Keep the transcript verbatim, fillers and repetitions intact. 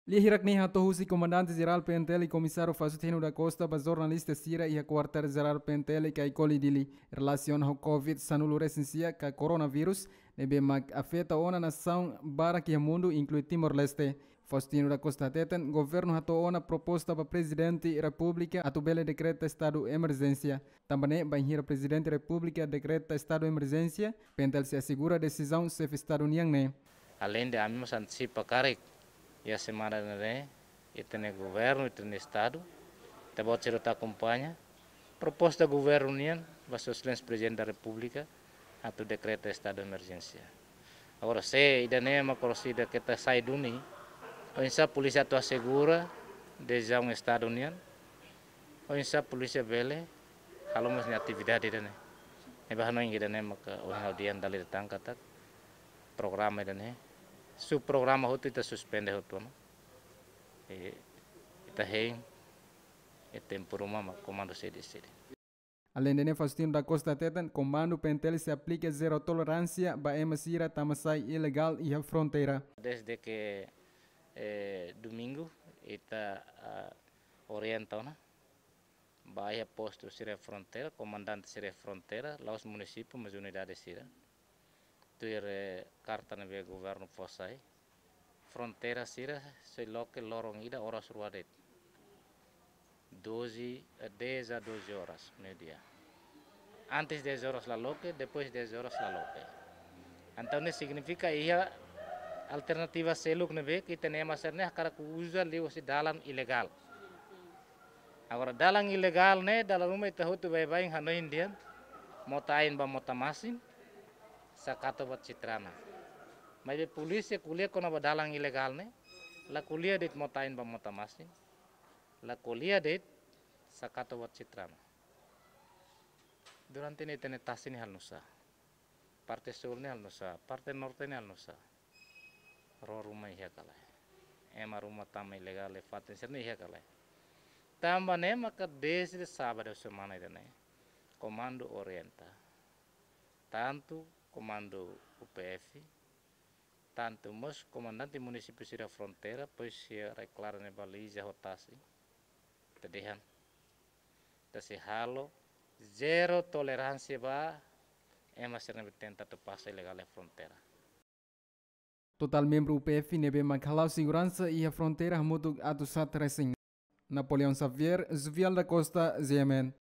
Lia hirak ne'e hato'o husi Komandante Jerál P N T L Komisáriu Faustino da Costa ba jornalista sira iha Kuartél Jerál P N T L Caicoli, Dili, relasiona ho COVID sanulu resin sia ka coronavírus, ne'ebé mak afeta ona nasaun barak iha mundu, inklui Timor-Leste. Faustino da Costa hateten, governu hato'o ona proposta ba Prezidente Repúblika atu bele dekreta estadu emerjénsia. Tanba ne'e, bainhira Prezidente Repúblika dekreta estadu emerjénsia, P N T L sei asegura desizaun Xefe Estadu nian ne'e. Aleinde ami mós antesipa karik, iha semana ne'e, ita-nia governu, ita-nia estadu, ita-boot sira atu akompaña proposta governu nian ba Sua Exelénsia Prezidente da Repúblika atu dekreta estadu emerjénsia. Agora, se ida-ne'e mak orsida keta sai duni, oinsá polísia atu asegura desizaun estadu nian, oinsá polísia bele halo mós nia atividade ida-ne'e. Ne'ebé hanoin ida-ne'e maka ohin ha'u dehan dala ida tan katak programa ida-ne'e, subprograma hotu ita suspende hotu ona. E, ita hein, e tempu ruma mak komandu sei deside. Aleinde ne'e, Faustino da Costa hateten, komandu P N T L sei aplika zero toleránsia ba ema sira tama sai ilegál iha fronteira. Desde que, eh, domingu, ita, ah, orienta ona ba iha postu sira fronteira, komandante sira fronteira, la'ós munisípiu, mas unidade sira. Tuir, eh, karta ne'ebé governu fó sai, fronteira sira sei loke loron ida oras rua de'it. Doze, eh, dez a doze horas, meio-dia. Antes dez horas la loke, depois dez horas la loke. Entaun ne'e signifika iha alternativa seluk ne'ebé ke ita-nia ema sira-ne'e hakarak uza liuhusi dalan ilegál. Agora, dalan ilegál ne'e, dala ruma ita hotu baibain hanoin dehan, mota ain ba mota masin, Sakato ba Citrana. Maibé polísia ko'alia kona-ba dalan ilegál ne'e, la ko'alia de'it mota ain ba mota masin, la ko'alia de'it Sakato ba Citrana. Durante ne'e ita-nia tasi ne'e halo nu'usá? Parte súl ne'e halo nu'usá? Parte norte ne'e halo nu'usá? Ró ruma iha ka lae? Ema ruma tama ilegál iha fatin sira-ne'e iha ka lae? Tanba ne'e maka desde sábadu semana ida-ne'e, komandu orienta, tantu komandu U P F, tantu mós komandante munisípiu sira fronteira, depois sira deklara ne'e baliza ho tasi, ita dehan, ita sei halo zero toleránsia ba ema sira ne'ebé tenta atu pasa ilegál iha fronteira. Totál membru U P F ne'ebé mak hala'o seguransa iha fronteira hamutuk atus haat resin. Napoleão Xavier, Juvial da Costa, G M N.